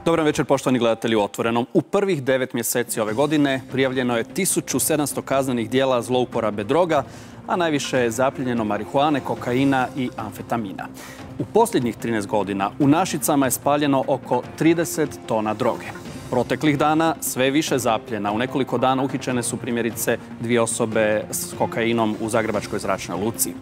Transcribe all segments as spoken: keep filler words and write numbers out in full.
Dobar večer, poštovani gledatelji u Otvorenom. U prvih devet mjeseci ove godine prijavljeno je tisuću sedamsto kaznenih dijela zlouporabe droga, a najviše je zapljenjeno marihuane, kokaina i amfetamina. U posljednjih trinaest godina u Našicama je spaljeno oko trideset tona droge. Proteklih dana sve više zapljena. U nekoliko dana uhićene su primjerice dvije osobe s kokainom u Zagrebačkoj zračnoj luci.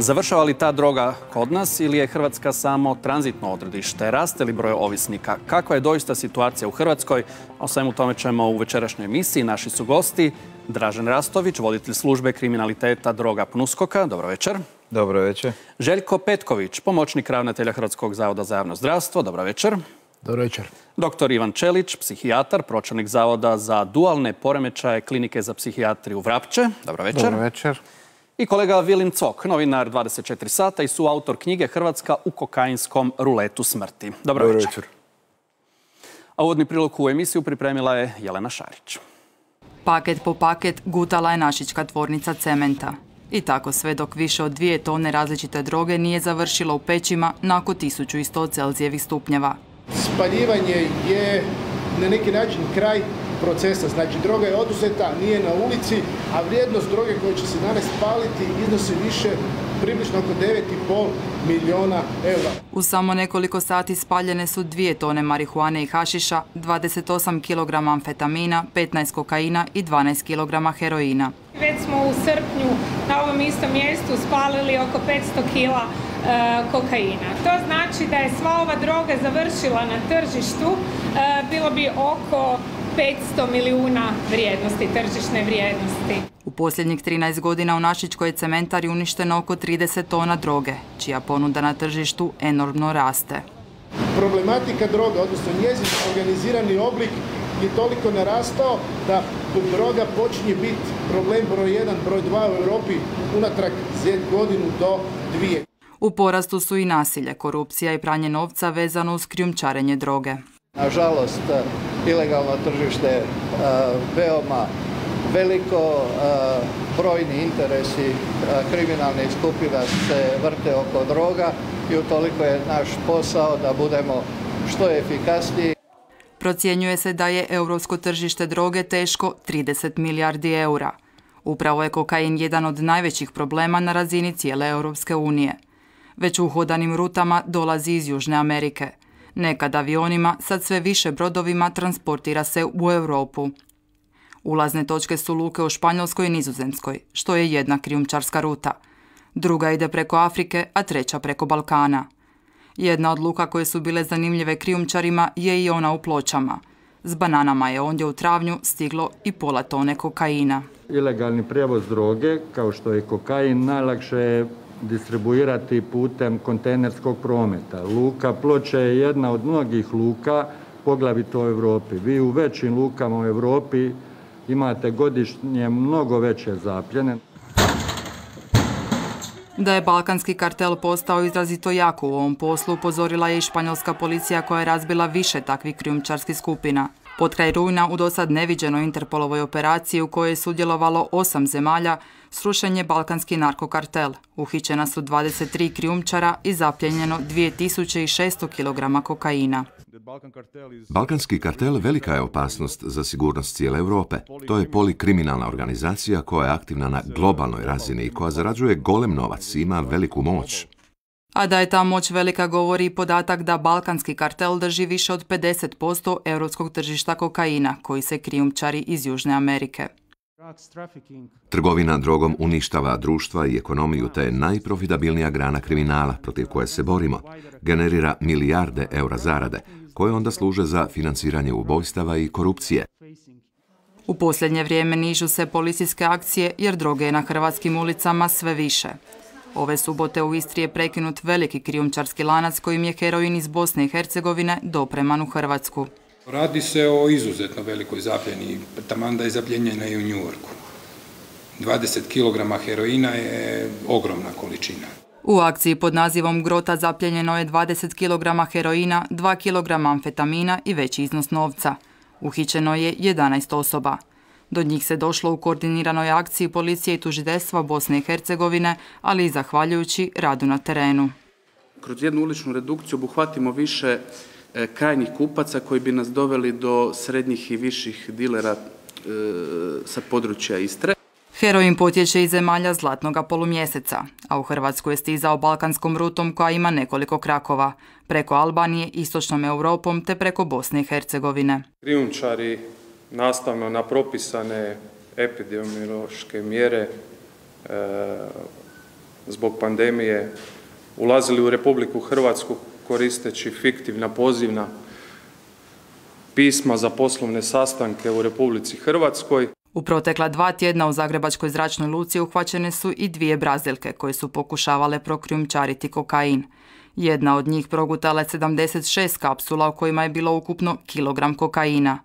Završava li ta droga kod nas ili je Hrvatska samo tranzitno odredište? Raste li broj ovisnika? Kakva je doista situacija u Hrvatskoj? O svemu tome ćemo u večerašnjoj emisiji. Naši su gosti Dražen Rastović, voditelj službe kriminaliteta droga PNUSKOK-a. Dobro večer. Dobro večer. Željko Petković, pomoćnik ravnatelja Hrvatskog zavoda za javno zdravstvo. Dobro večer. Dobro večer. Doktor Ivan Čelić, psihijatar, pročelnik Zavoda za dualne poremećaje Klinike za psihijatriju Vrapče. Dobro večer. Dobro večer. I kolega Vilin Cok, novinar dvadeset četiri sata i suautor knjige Hrvatska u kokainskom ruletu smrti. Dobro, Dobro večer. večer. A uvodni prilog u emisiju pripremila je Jelena Šarić. Paket po paket gutala je našička tvornica cementa. I tako sve dok više od dvije tone različite droge nije završilo u pećima na oko tisuću sto Celzijevih stupnjeva. Spaljivanje je na neki način kraj procesa. Znači, droga je oduzeta, nije na ulici, a vrijednost droge koja će se danas spaliti iznosi više, približno oko devet i pol milijuna eura. U samo nekoliko sati spaljene su dvije tone marihuane i hašiša, dvadeset osam kilograma amfetamina, petnaest kokaina i dvanaest kilograma heroina. Već smo u srpnju na ovom istom mjestu spalili oko petsto kila e, kokaina. To znači da je sva ova droga završila na tržištu, e, bilo bi oko petsto milijuna vrijednosti, tržišne vrijednosti. U posljednjih trinaest godina u našičkoj cementari uništeno oko trideset tona droge, čija ponuda na tržištu enormno raste. Problematika droga, odnosno njezin organizirani oblik, je toliko narastao da droga počinje biti problem broj jedan, broj dva u Europi unatrag godinu do dvije. U porastu su i nasilje, korupcija i pranje novca vezano uz krijumčarenje droge. Nažalost, ilegalno tržište veoma veliko, brojni interesi kriminalnih skupina se vrte oko droga i utoliko je naš posao da budemo što efikasniji. Procjenjuje se da je europsko tržište droge teško trideset milijardi eura. Upravo je kokain jedan od najvećih problema na razini cijele Europske unije. Već uhodanim rutama dolazi iz Južne Amerike. Nekad avionima, sad sve više brodovima transportira se u Europu. Ulazne točke su luke u Španjolskoj i Nizozemskoj, što je jedna krijumčarska ruta. Druga ide preko Afrike, a treća preko Balkana. Jedna od luka koje su bile zanimljive krijumčarima je i ona u Pločama. S bananama je ondje u travnju stiglo i pola tone kokaina. Ilegalni prijevoz droge, kao što je kokain, najlakše je distribuirati putem kontejnerskog prometa. Luka Ploče je jedna od mnogih luka, poglavito u Europi. Vi u većim lukama u Europi imate godišnje mnogo veće zapljene. Da je balkanski kartel postao izrazito jak u ovom poslu, upozorila je i španjolska policija koja je razbila više takvih krijumčarskih skupina. Potkraj rujna u dosad neviđenoj Interpolovoj operaciji u kojoj je sudjelovalo osam zemalja, srušen je balkanski narkokartel. Uhićena su dvadeset tri krijumčara i zapljenjeno dvije tisuće šesto kilograma kokaina. Balkanski kartel velika je opasnost za sigurnost cijele Europe. To je polikriminalna organizacija koja je aktivna na globalnoj razini i koja zarađuje golem novac i ima veliku moć. A da je ta moć velika govori i podatak da balkanski kartel drži više od pedeset posto europskog tržišta kokaina, koji se krijumčari iz Južne Amerike. Trgovina drogom uništava društva i ekonomiju, te je najprofitabilnija grana kriminala protiv koje se borimo. Generira milijarde eura zarade, koje onda služe za financiranje ubojstava i korupcije. U posljednje vrijeme nižu se policijske akcije jer droge je na hrvatskim ulicama sve više. Ove subote u Istri je prekinut veliki krijumčarski lanac kojim je heroin iz Bosne i Hercegovine dopreman u Hrvatsku. Radi se o izuzetno velikoj zapljeni, taman da je zapljenjena i u New Yorku. dvadeset kilograma heroina je ogromna količina. U akciji pod nazivom Grota zapljenjeno je dvadeset kilograma heroina, dva kilograma amfetamina i veći iznos novca. Uhićeno je jedanaest osoba. Do njih se došlo u koordiniranoj akciji policije i tužiteljstva Bosne i Hercegovine, ali i zahvaljujući radu na terenu. Kroz jednu uličnu redukciju obuhvatimo više krajnjih kupaca koji bi nas doveli do srednjih i viših dilera sa područja Istre. Heroin potječe iz zemalja zlatnoga polumjeseca, a u Hrvatsku je stizao balkanskom rutom koja ima nekoliko krakova, preko Albanije, istočnom Europom te preko Bosne i Hercegovine. Krijumčari nastavno na propisane epidemiološke mjere e, zbog pandemije ulazili u Republiku Hrvatsku koristeći fiktivna pozivna pisma za poslovne sastanke u Republici Hrvatskoj. U protekla dva tjedna u Zagrebačkoj zračnoj luci uhvaćene su i dvije Brazilke koje su pokušavale prokrijumčariti kokain. Jedna od njih progutala je sedamdeset šest kapsula u kojima je bilo ukupno kilogram kokaina.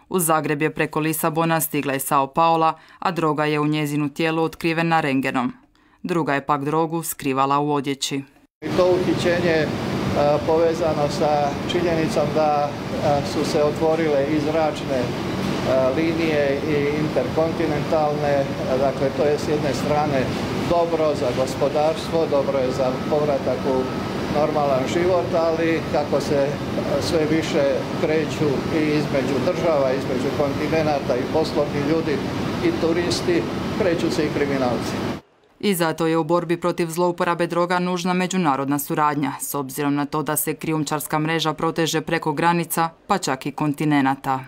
U Zagreb je preko Lisabona stigla iz Sao Paula, a droga je u njezinu tijelu otkrivena rengenom. Druga je pak drogu skrivala u odjeći. To uhićenje povezano sa činjenicom da su se otvorile i zračne linije i interkontinentalne, dakle to je s jedne strane dobro za gospodarstvo, dobro je za povratak u normalan život, ali kako se sve više kreću i između država, između kontinenata i poslovni ljudi i turisti, kreću se i kriminalci. I zato je u borbi protiv zlouporabe droga nužna međunarodna suradnja, s obzirom na to da se krijumčarska mreža proteže preko granica, pa čak i kontinenata.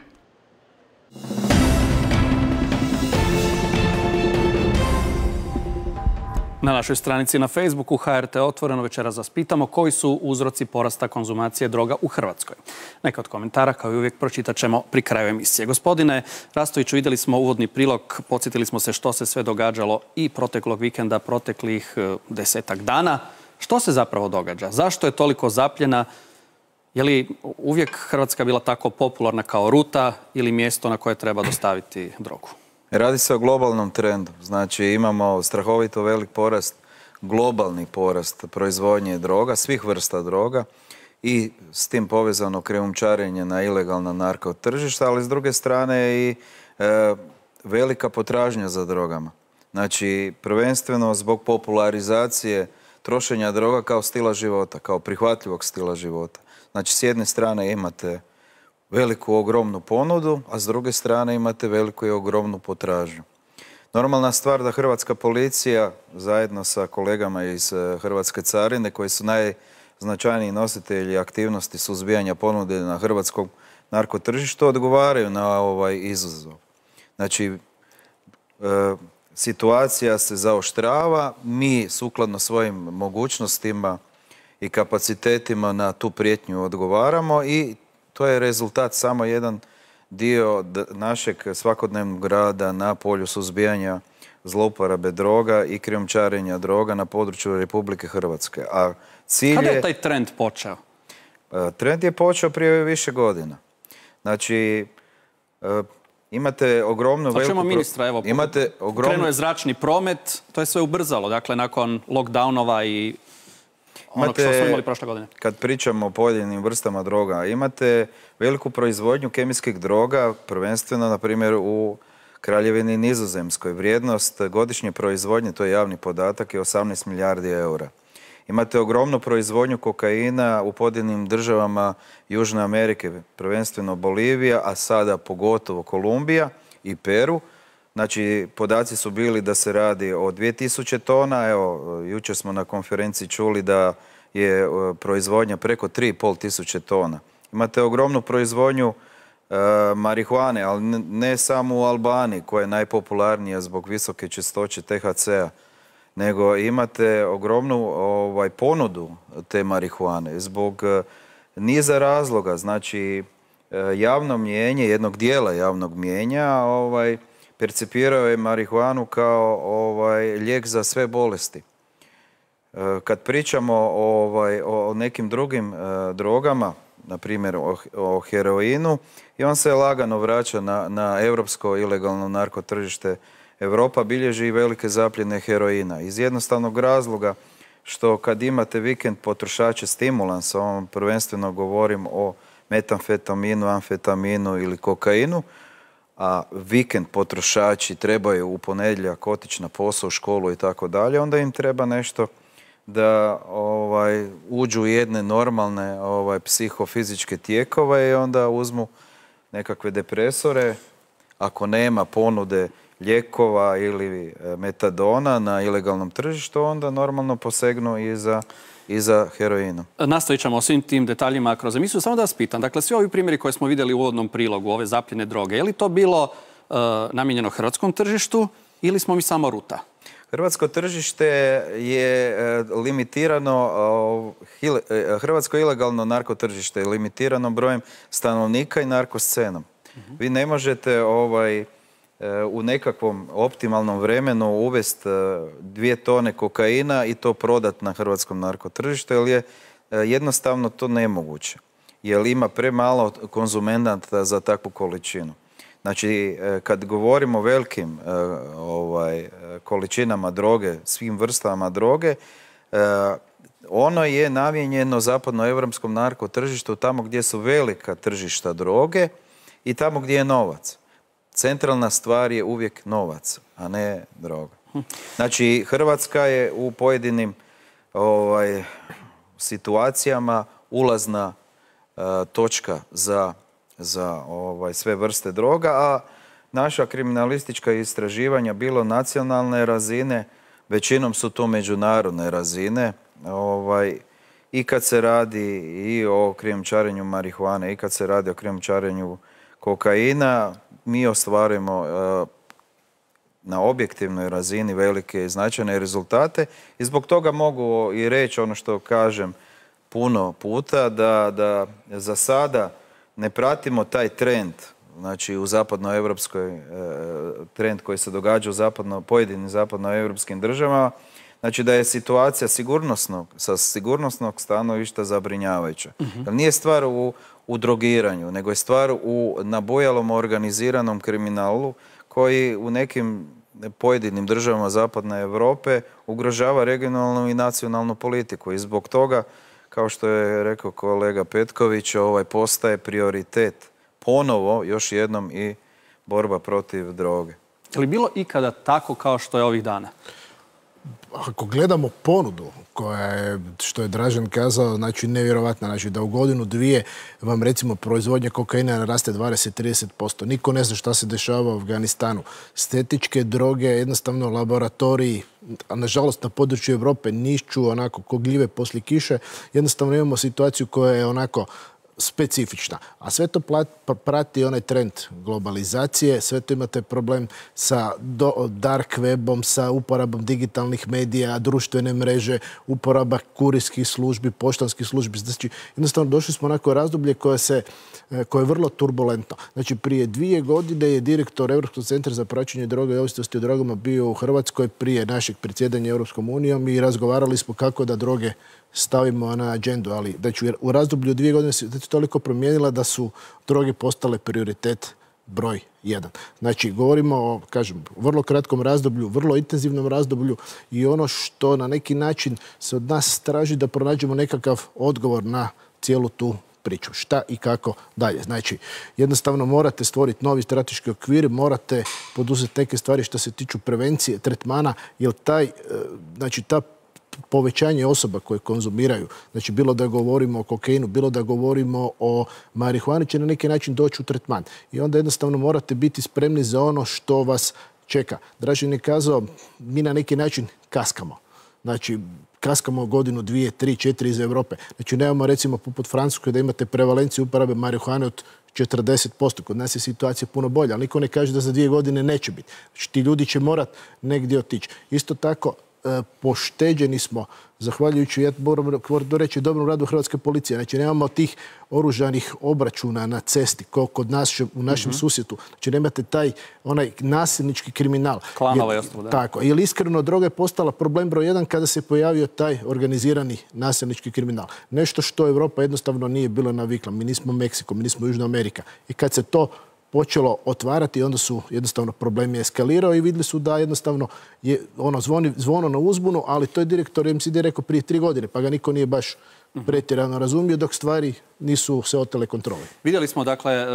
Na našoj stranici na Facebooku H R T Otvoreno večeras vas pitamo koji su uzroci porasta konzumacije droga u Hrvatskoj. Neka od komentara, kao i uvijek, pročitat ćemo pri kraju emisije. Gospodine Rastoviću, vidjeli smo uvodni prilog, podsjetili smo se što se sve događalo i proteklog vikenda, proteklih desetak dana. Što se zapravo događa? Zašto je toliko zapljena? Je li uvijek Hrvatska bila tako popularna kao ruta ili mjesto na koje treba dostaviti drogu? Radi se o globalnom trendu. Znači imamo strahovito velik porast, globalni porast proizvodnje droga, svih vrsta droga i s tim povezano krijumčarenje na ilegalna narko tržišta, ali s druge strane i e, velika potražnja za drogama. Znači prvenstveno zbog popularizacije trošenja droga kao stila života, kao prihvatljivog stila života. Znači s jedne strane imate veliku ogromnu ponudu, a s druge strane imate veliku i ogromnu potražnju. Normalna stvar da hrvatska policija zajedno sa kolegama iz Hrvatske carine, koji su najznačajniji nositelji aktivnosti suzbijanja ponude na hrvatskom narkotržištu, odgovaraju na ovaj izazov. Znači, e, situacija se zaoštrava, mi sukladno svojim mogućnostima i kapacitetima na tu prijetnju odgovaramo i to je rezultat samo jedan dio našeg svakodnevnog rada na polju suzbijanja zlouporabe droga i krijumčarenja droga na području Republike Hrvatske. A cilj je... Kada je taj trend počeo? Trend je počeo prije više godina. Znači, imate ogromnu veliku... Čujemo ministra, evo, imate ogromnu... krenuo je zračni promet, to je sve ubrzalo, dakle, nakon lockdownova i onog što smo imali prošle godine. Kad pričamo o pojedinim vrstama droga, imate veliku proizvodnju kemijskih droga, prvenstveno, na primjer, u Kraljevini Nizozemskoj. Vrijednost godišnje proizvodnje, to je javni podatak, je osamnaest milijardi eura. Imate ogromnu proizvodnju kokaina u pojedinim državama Južne Amerike, prvenstveno Bolivija, a sada pogotovo Kolumbija i Peru. Znači, podaci su bili da se radi o dvije tisuće tona. Evo, jučer smo na konferenciji čuli da je proizvodnja preko tri i pol tisuće tona. Imate ogromnu proizvodnju e, marihuane, ali ne, ne samo u Albaniji, koja je najpopularnija zbog visoke čistoće T H C-a, nego imate ogromnu ovaj, ponudu te marihuane zbog e, niza razloga. Znači, e, javno mnijenje, jednog dijela javnog mnijenja, ovaj, percipirao je marihuanu kao ovaj, lijek za sve bolesti. E, kad pričamo ovaj, o nekim drugim e, drogama, na primjer o, o heroinu, i on se lagano vraća na, na europsko ilegalno narkotržište. Europa bilježi i velike zapljene heroina. Iz jednostavnog razloga što kad imate vikend potrošače stimulansa, on prvenstveno govorim o metamfetaminu, amfetaminu ili kokainu, a vikend potrošači trebaju u ponedjeljak otići na posao, u školu i tako dalje, onda im treba nešto da ovaj, uđu u jedne normalne ovaj, psihofizičke tijekove i onda uzmu nekakve depresore. Ako nema ponude lijekova ili metadona na ilegalnom tržištu, onda normalno posegnu i za, i za heroinom. Nastavit ćemo o svim tim detaljima kroz emisiju. Samo da vas pitam, dakle, svi ovi primjeri koje smo vidjeli u uvodnom prilogu, ove zapljene droge, je li to bilo uh, namijenjeno hrvatskom tržištu ili smo mi samo ruta? Hrvatsko tržište je limitirano, hrvatsko ilegalno narkotržište je limitirano brojem stanovnika i narkoscenom. Uh-huh. Vi ne možete ovaj, u nekakvom optimalnom vremenu uvesti dvije tone kokaina i to prodati na hrvatskom narkotržištu, jer je jednostavno to nemoguće. Jer ima premalo konzumenata za takvu količinu. Znači, kad govorimo o velikim ovaj, količinama droge, svim vrstama droge, ono je namijenjeno zapadnoevropskom narkotržištu tamo gdje su velika tržišta droge i tamo gdje je novac. Centralna stvar je uvijek novac, a ne droga. Znači, Hrvatska je u pojedinim ovaj, situacijama ulazna uh, točka za, za ovaj, sve vrste droga, a naša kriminalistička istraživanja, bilo nacionalne razine, većinom su to međunarodne razine, ovaj, i kad se radi i o krijumčarenju marihuane, i kad se radi o krijumčarenju kokaina, mi ostvarujemo uh, na objektivnoj razini velike i značajne rezultate i zbog toga mogu i reći ono što kažem puno puta, da, da za sada ne pratimo taj trend, znači u zapadnoevropskoj uh, trend koji se događa u zapadno, pojedinim zapadnoevropskim državama, znači da je situacija sigurnosnog, sa sigurnosnog stanovišta zabrinjavajuća. Uh-huh. Nije stvar u u drogiranju, nego je stvar u nabojalom organiziranom kriminalu koji u nekim pojedinim državama Zapadne Europe ugrožava regionalnu i nacionalnu politiku. I zbog toga, kao što je rekao kolega Petković, ovaj postaje prioritet ponovo, još jednom, i borba protiv droge. Je li bilo ikada tako kao što je ovih dana? Ako gledamo ponudu koja je, što je Dražen kazao, znači nevjerovatna, znači da u godinu dvije vam recimo proizvodnja kokaina raste dvadeset do trideset posto. Niko ne zna šta se dešava u Afganistanu. Stetičke droge, jednostavno laboratoriji, a nažalost na području Europe nišću onako ko gljive poslije kiše. Jednostavno imamo situaciju koja je onako specifična. A sve to prati onaj trend globalizacije, sve to imate problem sa do, dark webom, sa uporabom digitalnih medija, društvene mreže, uporaba kurirskih službi, poštanskih službi. Znači, jednostavno došli smo onako razdoblje koje, se, koje je vrlo turbulentno. Znači, prije dvije godine je direktor Europskog centra za praćenje droga i ovisnosti o drogama bio u Hrvatskoj prije našeg predsjedanja Europskom unijom i razgovarali smo kako da droge stavimo na agendu, ali znači, u razdoblju dvije godine se toliko promijenila da su droge postale prioritet broj jedan. Znači, govorimo o, kažem, vrlo kratkom razdoblju, vrlo intenzivnom razdoblju i ono što na neki način se od nas traži da pronađemo nekakav odgovor na cijelu tu priču. Šta i kako dalje. Znači, jednostavno morate stvoriti novi strateški okvir, morate poduzeti neke stvari što se tiču prevencije, tretmana, jer taj, znači, ta povećanje osoba koje konzumiraju, znači bilo da govorimo o kokainu, bilo da govorimo o marihuani, će na neki način doći u tretman. I onda jednostavno morate biti spremni za ono što vas čeka. Dražen je kazao, mi na neki način kaskamo. Znači, kaskamo godinu, dvije, tri, četiri iz Europe. Znači, nemamo recimo poput Francuske da imate prevalenciju uporabe marihuane od četrdeset posto. Kod nas je situacija puno bolja, ali niko ne kaže da za dvije godine neće biti. Znači, ti ljudi će morat negdje otići. Isto tako, pošteđeni smo, zahvaljujući, ja moram reći, dobrom radu Hrvatske policije. Znači, nemamo tih oružanih obračuna na cesti, kao kod nas u našem mm-hmm. susjetu. Znači, nemate taj onaj nasilnički kriminal. Klanova i ostalo, da. Tako. Jer iskreno, droga je postala problem broj jedan kada se pojavio taj organizirani nasilnički kriminal. Nešto što Europa jednostavno nije bila navikla. Mi nismo Meksiko, mi nismo Južna Amerika. I kad se to počelo otvarati i onda su jednostavno problemi eskalirao i vidjeli su da jednostavno je ono zvoni, zvono na uzbunu, ali to je direktor M C D rekao prije tri godine, pa ga niko nije baš pretjerano razumio dok stvari nisu se otele kontrole. Vidjeli smo, dakle,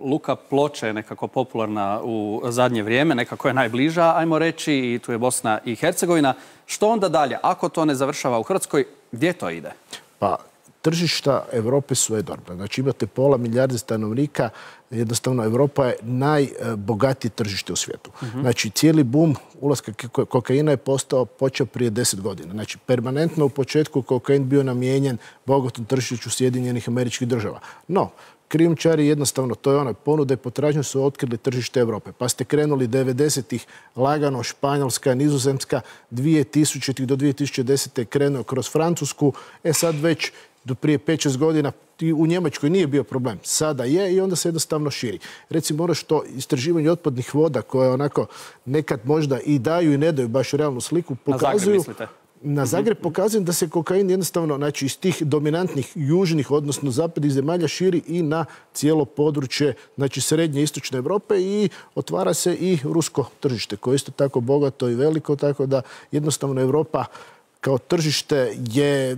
luka Ploče je nekako popularna u zadnje vrijeme, nekako je najbliža, ajmo reći, i tu je Bosna i Hercegovina. Što onda dalje? Ako to ne završava u Hrvatskoj, gdje to ide? Pa, tržišta Europe su enormna. Znači imate pola milijarde stanovnika, jednostavno Europa je najbogatije tržište u svijetu. Uh-huh. Znači cijeli bum ulaska kokaina je postao, počeo prije deset godina. Znači permanentno u početku kokain bio namijenjen bogatom tržištu Sjedinjenih Američkih Država. No, krijumčari jednostavno, to je ono, ponude i potražnje su otkrili tržište Europe. Pa ste krenuli devedesetih lagano, Španjolska, Nizozemska, dvije tisućite do dvije tisuće desete je krenuo kroz Francusku, e sad već do prije pet šest godina u Njemačkoj nije bio problem. Sada je i onda se jednostavno širi. Recimo ono što istraživanje otpadnih voda koje onako nekad možda i daju i ne daju baš realnu sliku pokazuju. Na Zagreb mislite? Na Zagreb pokazujem da se kokain jednostavno, znači iz tih dominantnih južnih, odnosno zapadnih zemalja širi i na cijelo područje, znači srednje i istočne Europe i otvara se i rusko tržište koje je isto tako bogato i veliko, tako da jednostavno Europa kao tržište je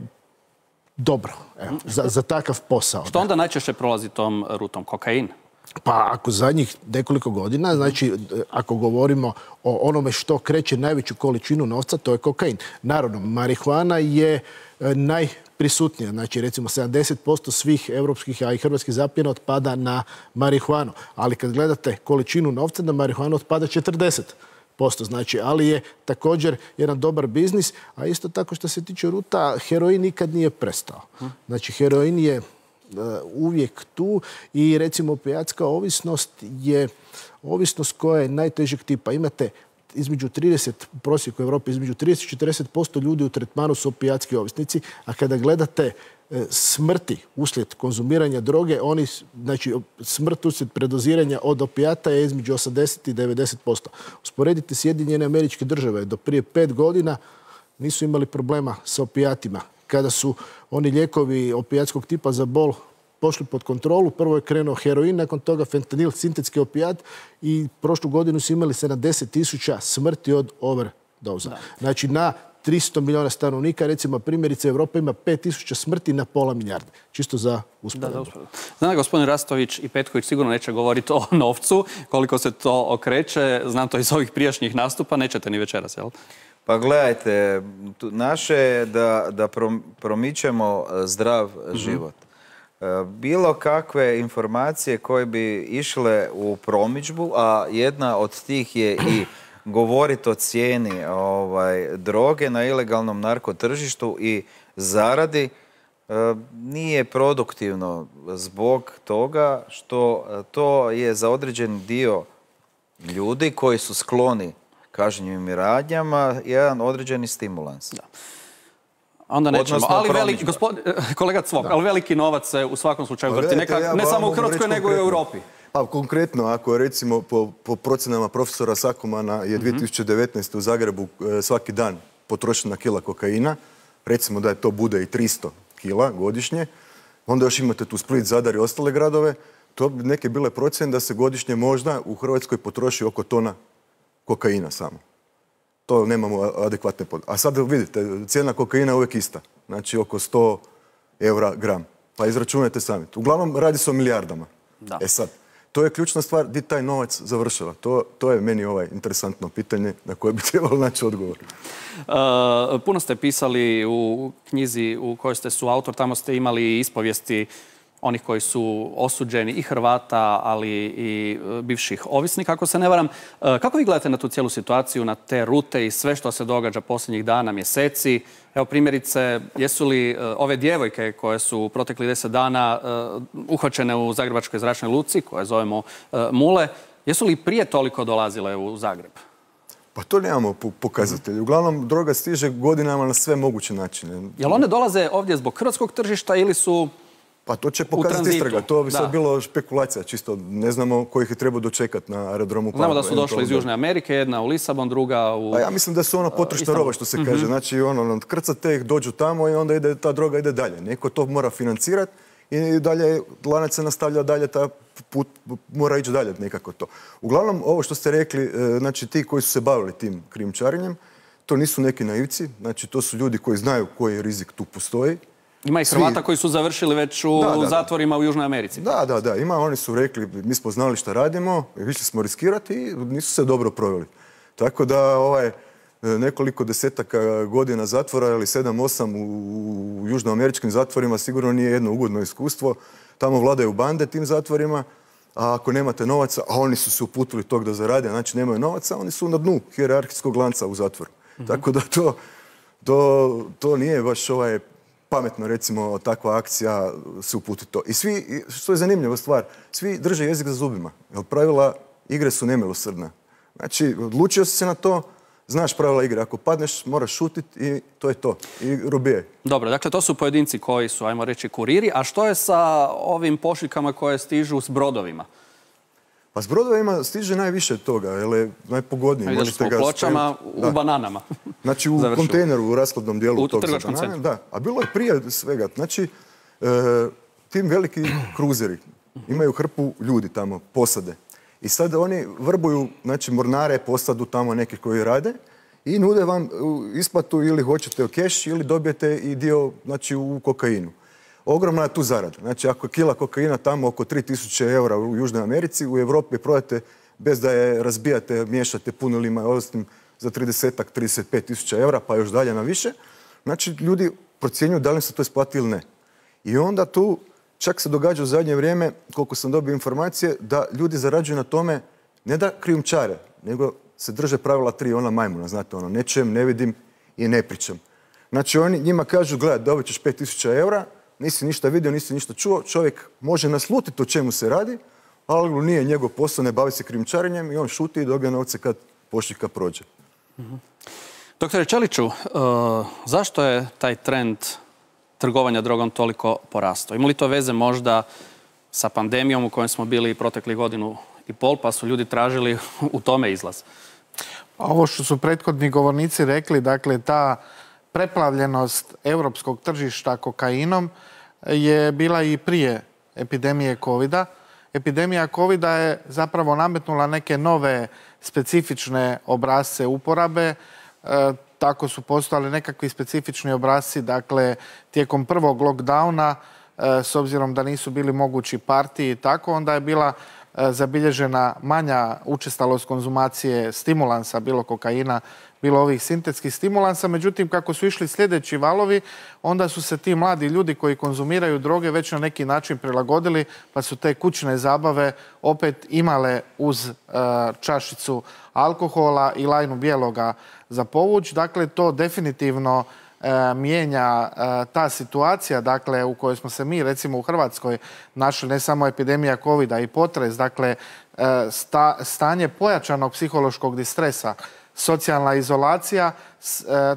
dobro, evo, za, za takav posao. Što onda najčešće prolazi tom rutom? Kokain? Pa ako zadnjih nekoliko godina, znači ako govorimo o onome što kreće najveću količinu novca, to je kokain. Naravno, marihuana je najprisutnija. Znači recimo sedamdeset posto svih europskih, a i hrvatskih zapljena otpada na marihuanu. Ali kad gledate količinu novca, na marihuanu otpada četrdeset posto. Znači, ali je također jedan dobar biznis, a isto tako što se tiče ruta, heroin nikad nije prestao. Znači, heroin je uvijek tu i recimo opijatska ovisnost je ovisnost koja je najtežeg tipa. Imate između trideset, u prosjeku Europe, između trideset do četrdeset posto ljudi u tretmanu su opijatski ovisnici, a kada gledate smrti uslijed konzumiranja droge, oni, znači smrt uslijed predoziranja od opijata je između osamdeset i devedeset posto. Usporedite Sjedinjene Američke Države, do prije pet godina nisu imali problema sa opijatima. Kada su oni lijekovi opijatskog tipa za bol pošli pod kontrolu, prvo je krenuo heroin, nakon toga fentanil, sintetski opijat i prošlu godinu su imali sedamdeset tisuća smrti od overdoza. Znači na tristo milijuna stanovnika, recimo primjerice Evropa ima pet tisuća smrti na pola milijarde. Čisto za usporedbu. Znam da gospodin Rastović i Petković sigurno neće govoriti o novcu, koliko se to okreće. Znam to iz ovih prijašnjih nastupa, nećete ni večeras, jel? Pa gledajte, naše je da, da promičemo zdrav život. Bilo kakve informacije koje bi išle u promidžbu, a jedna od tih je i govoriti o cijeni ovaj, droge na ilegalnom narkotržištu i zaradi, nije produktivno zbog toga što to je za određen dio ljudi koji su skloni kažnjivim radnjama jedan određeni stimulans. Da. Onda nećemo. Ali veliki, gospod, kolega Cvok, ali veliki novac se u svakom slučaju vrti. Neka, ja ne samo u Hrvatskoj, nego i u Europi. Pa konkretno, ako recimo po, po procenama profesora Sakomana je dvije tisuće devetnaeste. u Zagrebu svaki dan potrošena kila kokaina, recimo da je to bude i tristo kila godišnje, onda još imate tu Split, Zadar i ostale gradove, to bi neke bile procjene da se godišnje možda u Hrvatskoj potroši oko tona kokaina samo. To nemamo adekvatne podatke. A sad vidite, cijena kokaina je uvijek ista. Znači oko sto eura gram. Pa izračunajte sami. Uglavnom radi se o milijardama. Da. E sad, to je ključna stvar gdje taj novac završava. To, to je meni ovaj interesantno pitanje na koje bi trebalo naći odgovor. Uh, puno ste pisali u knjizi u kojoj ste su autor. Tamo ste imali ispovijesti onih koji su osuđeni i Hrvata, ali i bivših ovisnika, ako se ne varam. Kako vi gledate na tu cijelu situaciju, na te rute i sve što se događa posljednjih dana, mjeseci? Evo primjerice, jesu li ove djevojke koje su protekli deset dana uhvaćene u Zagrebačkoj zračnoj luci, koje zovemo Mule, jesu li prije toliko dolazile u Zagreb? Pa to nemamo pokazatelje. Uglavnom, droga stiže godinama na sve moguće načine. Jel one dolaze ovdje zbog hrvatskog tržišta ili su... Pa to će pokazati istraga. To bi sad bilo špekulacija, čisto ne znamo kojih je trebao dočekati na aerodromu. Znamo da su došli iz Južne Amerike, jedna u Lisabon, druga u... A ja mislim da su ono potrošna roba, što se kaže. Znači, ono, krcate ih, dođu tamo i onda ide, ta droga ide dalje. Neko to mora financirati i dalje lanac se nastavlja dalje, ta put mora ići dalje nekako to. Uglavnom, ovo što ste rekli, znači ti koji su se bavili tim krijumčarenjem, to nisu neki naivci, znači to su ljudi koji znaju koji rizik tu postoji. Ima i Hrvata koji su završili već u da, da, zatvorima u Južnoj Americi. Da, da, da. Ima, oni su rekli, mi smo znali šta radimo, išli smo riskirati i nisu se dobro proveli. Tako da ovaj, nekoliko desetaka godina zatvora ili sedam, osam u južnoameričkim zatvorima sigurno nije jedno ugodno iskustvo. Tamo vladaju bande tim zatvorima, a ako nemate novaca, a oni su se uputili tog da zarade, znači nemaju novaca, oni su na dnu hijerarhijskog lanca u zatvoru. Mm-hmm. Tako da to, to, to nije baš ovaj pametno, recimo, takva akcija se uputi to. I svi, što je zanimljiva stvar, svi drže jezik za zubima, jer pravila igre su nemilosrdna. Znači, odlučio si se na to, znaš pravila igre. Ako padneš, moraš šutiti i to je to. I robije. Dobro, dakle, to su pojedinci koji su, ajmo reći, kuriri. A što je sa ovim pošiljkama koje stižu s brodovima? Pa s brodovima stiže najviše toga, jer je najpogodnije. Vidjeli smo u Pločama, u bananama. Znači, u kontejneru, u raskladnom dijelu tog za banane. centru. Da, a bilo je prije svega. Znači, tim veliki kruzeri imaju hrpu ljudi tamo, posade. I sad oni vrbuju, znači, mornare, posadu tamo neki koji rade i nude vam isplatu ili hoćete u keš ili dobijete i dio, znači, u kokainu. Ogromna je tu zarada. Znači, ako je kila kokaina tamo oko tri tisuće eura u Južnoj Americi, u Europi prodate bez da je razbijate, miješate punilima i ostim za trideset, trideset pet tisuća eura, pa još dalje na više. Znači, ljudi procjenjuju da li se to isplati ili ne. I onda tu čak se događa u zadnje vrijeme, koliko sam dobio informacije, da ljudi zarađuju na tome ne da krijumčare, nego se drže pravila tri, ona majmuna, znate, ono, ne čujem, ne vidim i ne pričam. Znači, oni njima kažu, gledaj, dobit ćeš pet tisuća eura, nisi ništa vidio, nisi ništa čuo, čovjek može naslutiti o čemu se radi, ali nije njegov posao, ne bavi se krijumčarenjem i on šuti i dobija novce kad pošiljka prođe. Mm-hmm. Doktore Čeliću, uh, zašto je taj trend trgovanja drogom toliko porastao? Ima li to veze možda sa pandemijom u kojoj smo bili protekli godinu i pol, pa su ljudi tražili u tome izlaz? Ovo što su prethodni govornici rekli, dakle, ta preplavljenost europskog tržišta kokainom je bila i prije epidemije kovida. Epidemija kovida je zapravo nametnula neke nove specifične obrasce uporabe. E, tako su postojali nekakvi specifični obrasci, dakle, tijekom prvog lockdowna, e, s obzirom da nisu bili mogući partiji i tako, onda je bila e, zabilježena manja učestalost konzumacije stimulansa, bilo kokaina, bilo ovih sintetskih stimulansa. Međutim, kako su išli sljedeći valovi, onda su se ti mladi ljudi koji konzumiraju droge već na neki način prilagodili, pa su te kućne zabave opet imale uz uh, čašicu alkohola i lajnu bijeloga za povuć. Dakle, to definitivno uh, mijenja uh, ta situacija, dakle, u kojoj smo se mi, recimo u Hrvatskoj, našli, ne samo epidemija kovida i potres, dakle, uh, sta, stanje pojačanog psihološkog distresa, socijalna izolacija,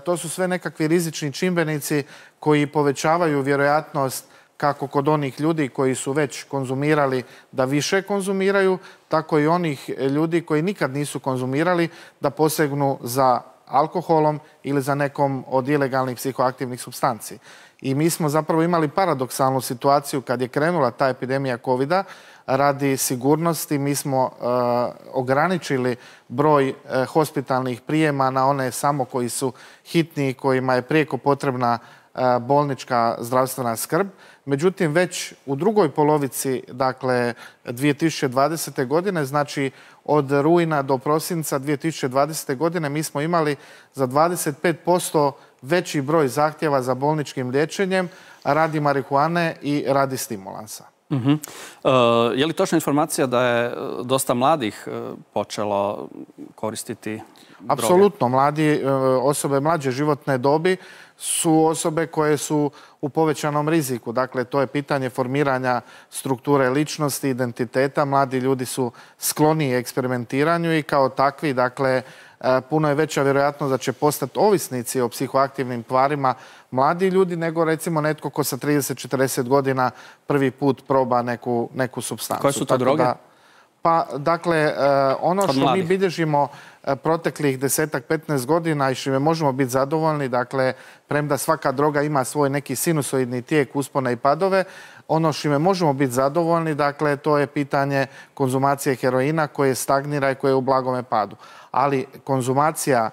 to su sve nekakvi rizični čimbenici koji povećavaju vjerojatnost kako kod onih ljudi koji su već konzumirali da više konzumiraju, tako i onih ljudi koji nikad nisu konzumirali da posegnu za alkoholom ili za nekom od ilegalnih psihoaktivnih supstanci. I mi smo zapravo imali paradoksalnu situaciju kad je krenula ta epidemija kovida. Radi sigurnosti mi smo uh, ograničili broj uh, hospitalnih prijema na one samo koji su hitni, kojima je prijeko potrebna uh, bolnička zdravstvena skrb. Međutim, već u drugoj polovici, dakle, dvije tisuće dvadesete. godine, znači od rujna do prosinca dvije tisuće dvadesete. godine, mi smo imali za dvadeset pet posto veći broj zahtjeva za bolničkim liječenjem radi marihuane i radi stimulansa. Uh-huh. Uh, je li točna informacija da je dosta mladih uh, počelo koristiti droge? Apsolutno. Mladi, uh, osobe mlađe životne dobi su osobe koje su u povećanom riziku. Dakle, to je pitanje formiranja strukture ličnosti, identiteta. Mladi ljudi su skloniji eksperimentiranju i kao takvi, dakle, puno je veća vjerojatnost da će postati ovisnici o psihoaktivnim tvarima mladi ljudi nego recimo netko ko sa trideset četrdeset godina prvi put proba neku, neku supstancu. Koje su to droge? Da, Pa, dakle, ono što mi bilježimo proteklih desetak, petnaest godina i što možemo biti zadovoljni, dakle, premda svaka droga ima svoj neki sinusoidni tijek, uspone i padove, ono što možemo biti zadovoljni, dakle, to je pitanje konzumacije heroina koje stagnira i koje je u blagome padu. Ali konzumacija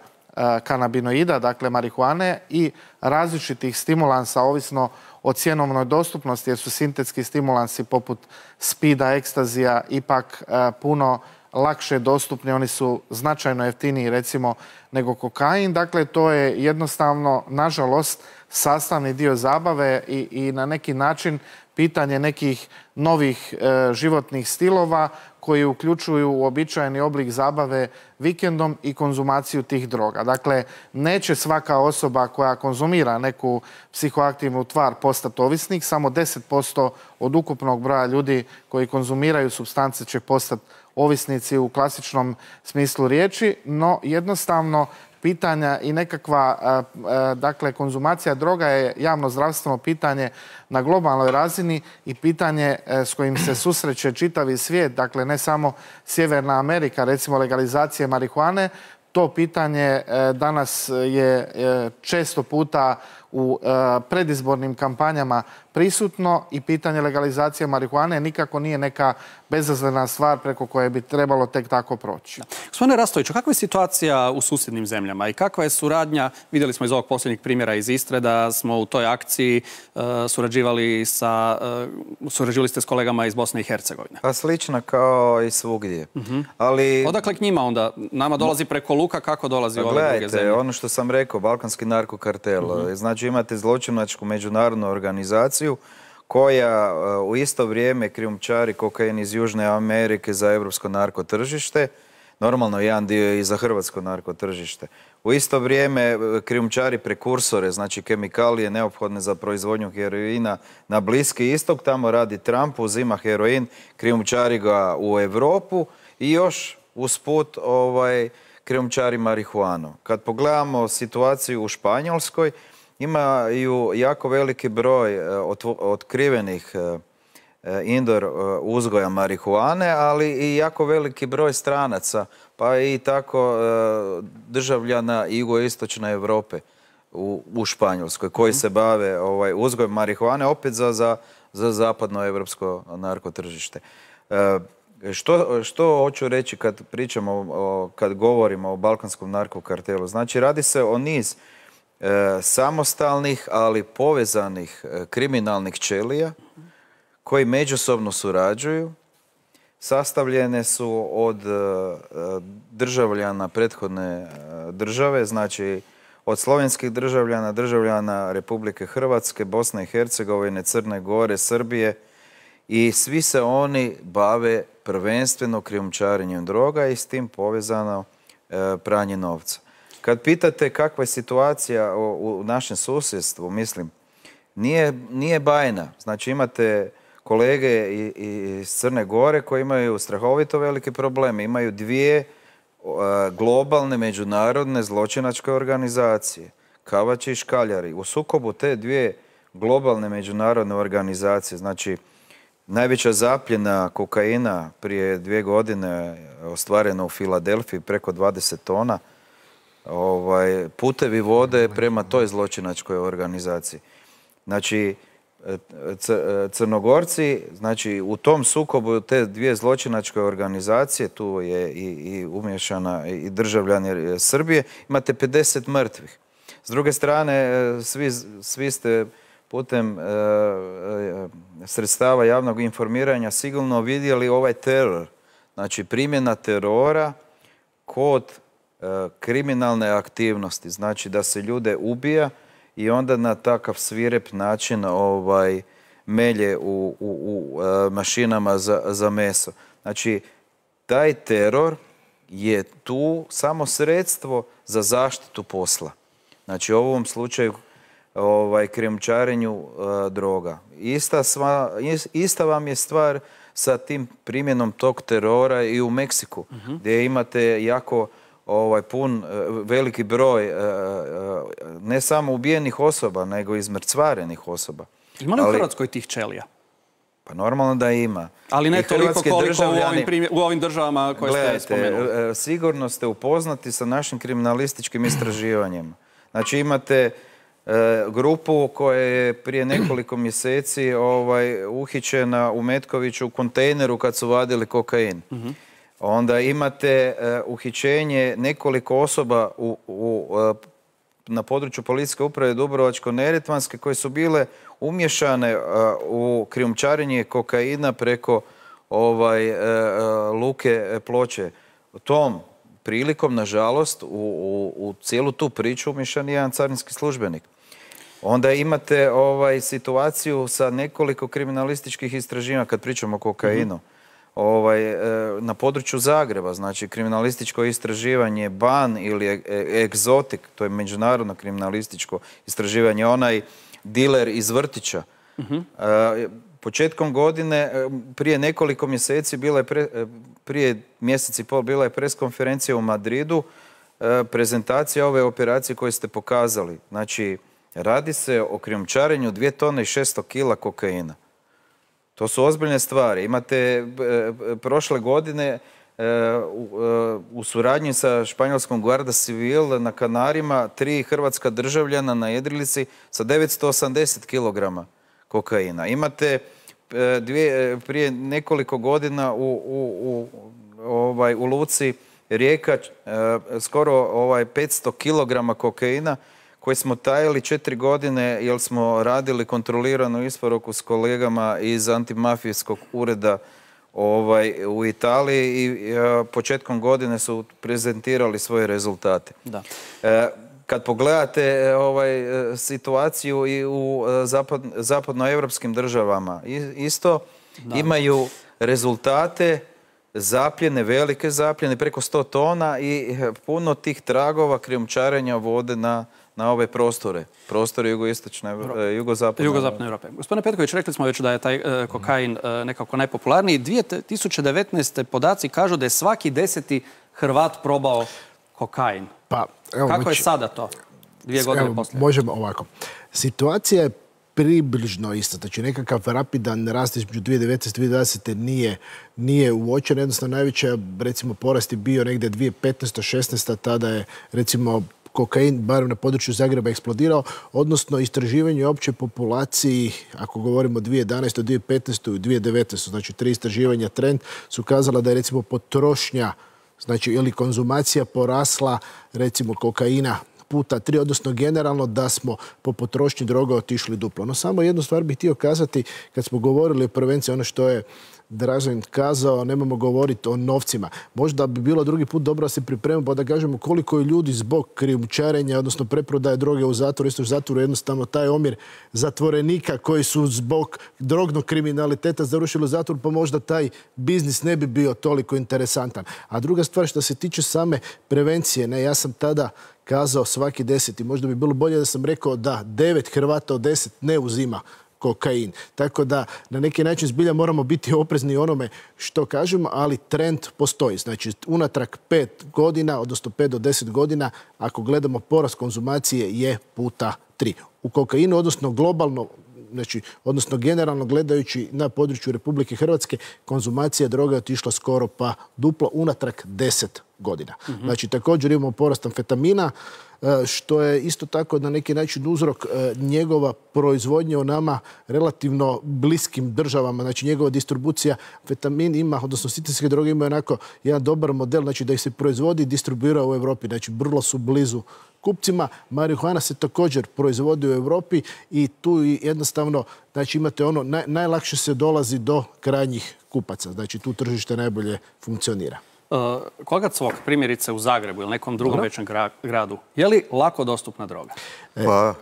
kanabinoida, dakle marihuane i različitih stimulansa, ovisno o cjenovnoj dostupnosti, jer su sintetski stimulansi poput spida, ekstazija ipak puno lakše dostupni, oni su značajno jeftiniji recimo nego kokain. Dakle, to je jednostavno, nažalost, sastavni dio zabave i, i na neki način pitanje nekih novih e, životnih stilova koji uključuju uobičajeni oblik zabave vikendom i konzumaciju tih droga. Dakle, neće svaka osoba koja konzumira neku psihoaktivnu tvar postati ovisnik, samo deset posto od ukupnog broja ljudi koji konzumiraju supstance će postati ovisnici u klasičnom smislu riječi, no jednostavno pitanja i nekakva, dakle, konzumacija droga je javno zdravstveno pitanje na globalnoj razini i pitanje s kojim se susreće čitavi svijet, dakle ne samo Sjeverna Amerika, recimo legalizacije marihuane. To pitanje danas je često puta u predizbornim kampanjama prisutno i pitanje legalizacije marihuane nikako nije neka bezazlena stvar preko koje bi trebalo tek tako proći. Gospodine Rastoviću, kakva je situacija u susjednim zemljama i kakva je suradnja? Vidjeli smo iz ovog posljednjeg primjera iz Istre da smo u toj akciji uh, surađivali sa, uh, surađivali ste s kolegama iz Bosne i Hercegovine. Pa slična kao i svugdje. Uh-huh. Ali... Odakle k njima onda? Nama dolazi preko luka, kako dolazi u ove gledajte, druge zemlje? Ono što sam rekao, balkanski narkokartel. Uh-huh. Znači imate zločinačku međunarodnu organizaciju koja u isto vrijeme krijumčari kokain iz Južne Amerike za europsko narkotržište, normalno jedan dio i za hrvatsko narkotržište. U isto vrijeme krijumčari prekursore, znači kemikalije neophodne za proizvodnju heroina na Bliski istok, tamo radi Trump, uzima heroin, krijumčari ga u Europu i još usput ovaj, krijumčari marihuanu. Kad pogledamo situaciju u Španjolskoj, imaju jako veliki broj otkrivenih indoor uzgoja marihuane, ali i jako veliki broj stranaca, pa i tako državljana jugoistočne Europe u, u Španjolskoj, koji se bave ovaj, uzgojem marihuane, opet za, za, za zapadno evropsko narkotržište. Što, što hoću reći kad pričamo, o, kad govorimo o balkanskom narkokartelu? Znači, radi se o niz E, samostalnih, ali povezanih e, kriminalnih ćelija koji međusobno surađuju. Sastavljene su od e, državljana prethodne e, države, znači od slovenskih državljana, državljana Republike Hrvatske, Bosne i Hercegovine, Crne Gore, Srbije i svi se oni bave prvenstveno krijumčarenjem droga i s tim povezano e, pranje novca. Kad pitate kakva je situacija u našem susjedstvu, mislim, nije, nije bajna. Znači imate kolege iz Crne Gore koji imaju strahovito velike probleme. Imaju dvije globalne međunarodne zločinačke organizacije, Kavači i Škaljari. U sukobu te dvije globalne međunarodne organizacije, znači najveća zapljena kokaina prije dvije godine ostvarena u Filadelfiji, preko dvadeset tona, Ovaj, putevi vode prema toj zločinačkoj organizaciji. Znači, Crnogorci, znači u tom sukobu te dvije zločinačke organizacije, tu je i, i umješana i državljani Srbije, imate pedeset mrtvih. S druge strane, svi, svi ste putem e, sredstava javnog informiranja sigurno vidjeli ovaj teror. Znači, primjena terora kod kriminalne aktivnosti, znači da se ljude ubija i onda na takav svirep način ovaj, melje u, u, u mašinama za, za meso. Znači, taj teror je tu samo sredstvo za zaštitu posla. Znači, u ovom slučaju ovaj, krijumčarenju uh, droga. Ista, sva, ista vam je stvar sa tim primjenom tog terora i u Meksiku, uh-huh. gdje imate jako ovaj pun veliki broj ne samo ubijenih osoba, nego i izmrcvarenih osoba. Ima li u Hrvatskoj tih ćelija? Pa normalno da ima. Ali ne I toliko hrvatski koliko u državljani- ovim, primjer- u ovim državama koje ste spomenuli. Gledajte, e, sigurno ste upoznati sa našim kriminalističkim istraživanjem. Znači imate e, grupu koja je prije nekoliko mjeseci ovaj, uhićena u Metkoviću u kontejneru kad su vadili kokain. Onda imate e, uhićenje nekoliko osoba u, u, e, na području policijske uprave Dubrovačko-neretvanske koje su bile umješane uh, u krijumčarenje kokaina preko ovaj, uh, uh, luke Ploče. Tom prilikom, nažalost, u, u, u cijelu tu priču umješan je jedan carinski službenik. Onda imate ovaj, situaciju sa nekoliko kriminalističkih istraživanja kad pričamo o kokainu. Mm-hmm. Ovaj, na području Zagreba, znači kriminalističko istraživanje Ban ili Egzotik, to je međunarodno kriminalističko istraživanje, onaj diler iz vrtića. Uh-huh. Početkom godine, prije nekoliko mjeseci, bila je pre, prije mjesec i pol, bila je preskonferencija u Madridu, prezentacija ove operacije koje ste pokazali. Znači, radi se o krijumčarenju dvije tone i šesto kila kokaina. To su ozbiljne stvari. Imate e, prošle godine e, u, e, u suradnji sa španjolskom Guarda Civil na Kanarima tri hrvatska državljana na jedrilici sa devetsto osamdeset kilograma kokaina. Imate e, dvije, prije nekoliko godina u, u, u, ovaj, u luci Rijeka e, skoro ovaj, petsto kilograma kokaina koje smo tajili četiri godine jer smo radili kontroliranu isporuku s kolegama iz antimafijskog ureda ovaj, u Italiji i e, početkom godine su prezentirali svoje rezultate. Da. E, kad pogledate ovaj, situaciju i u zapad, zapadnoevropskim državama, isto da. Imaju rezultate zapljene, velike zapljene, preko sto tona i puno tih tragova krijumčarenja vode na na ove prostore, prostore jugoistočne, jugozapadne Jugozapadne Europe. Gospodine Petković, rekli smo već da je taj e, kokain e, nekako najpopularniji. dvije tisuće devetnaeste. podaci kažu da je svaki deseti Hrvat probao kokain. Pa, evo, kako znači, je sada to? Dvije godine evo, poslije. Možemo ovako. Situacija je približno isto. Znači nekakav rapidan rast između dvije tisuće devetnaeste. i dvije tisuće dvadeset. nije, nije uočen. Jednostavno najveća, recimo, porast je bio negdje dvije tisuće petnaeste. šesnaeste. Tada je, recimo, kokain, barem na području Zagreba, eksplodirao, odnosno istraživanje opće populaciji, ako govorimo dvije tisuće jedanaeste. dvije tisuće petnaeste. i dvije tisuće devetnaeste. Znači tri istraživanja trend su kazala da je recimo potrošnja, znači ili konzumacija porasla recimo kokaina puta tri, odnosno generalno da smo po potrošnji droga otišli duplo. No samo jednu stvar bih htio kazati, kad smo govorili o prevenciji, ono što je Dražen kazao, nemamo govoriti o novcima. Možda bi bilo drugi put dobro da se pripremimo pa da kažemo koliko je ljudi zbog krijumčarenja, odnosno preprodaje droge u zatvoru, isto u zatvoru jednostavno taj omjer zatvorenika koji su zbog drognog kriminaliteta završili u zatvoru, pa možda taj biznis ne bi bio toliko interesantan. A druga stvar što se tiče same prevencije, ne, ja sam tada kazao svaki deseti. Možda bi bilo bolje da sam rekao da devet Hrvata od deset ne uzima kokain. Tako da na neki način zbilja moramo biti oprezni onome što kažemo, ali trend postoji. Znači unatrag pet godina, odnosno pet do deset godina, ako gledamo porast konzumacije je puta tri. U kokainu, odnosno globalno, znači, odnosno generalno gledajući na području Republike Hrvatske, konzumacija droga je otišla skoro pa duplo unatrag deset godina. Mm-hmm. Znači također imamo porast amfetamina, što je isto tako na neki način uzrok njegova proizvodnje u nama relativno bliskim državama. Znači njegova distribucija, amfetamin ima, odnosno sintetske droge imaju onako jedan dobar model, znači da ih se proizvodi i distribuira u Europi. Znači vrlo su blizu kupcima. Marihuana se također proizvodi u Europi i tu jednostavno, znači imate ono, naj, najlakše se dolazi do krajnjih kupaca. Znači tu tržište najbolje funkcionira. Uh, koga Cvok, primjerice u Zagrebu ili nekom drugom većem gra, gradu, je li lako dostupna droga? Pa,